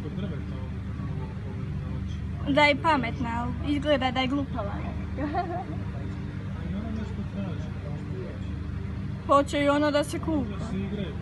kod drveta ovdje, kako mogu da pogledam na oči. Da je pametna, ali izgleda da je glupava. I ona nešto traži, kao što hoće. Hoće i ono da se Da kupa. se igraju.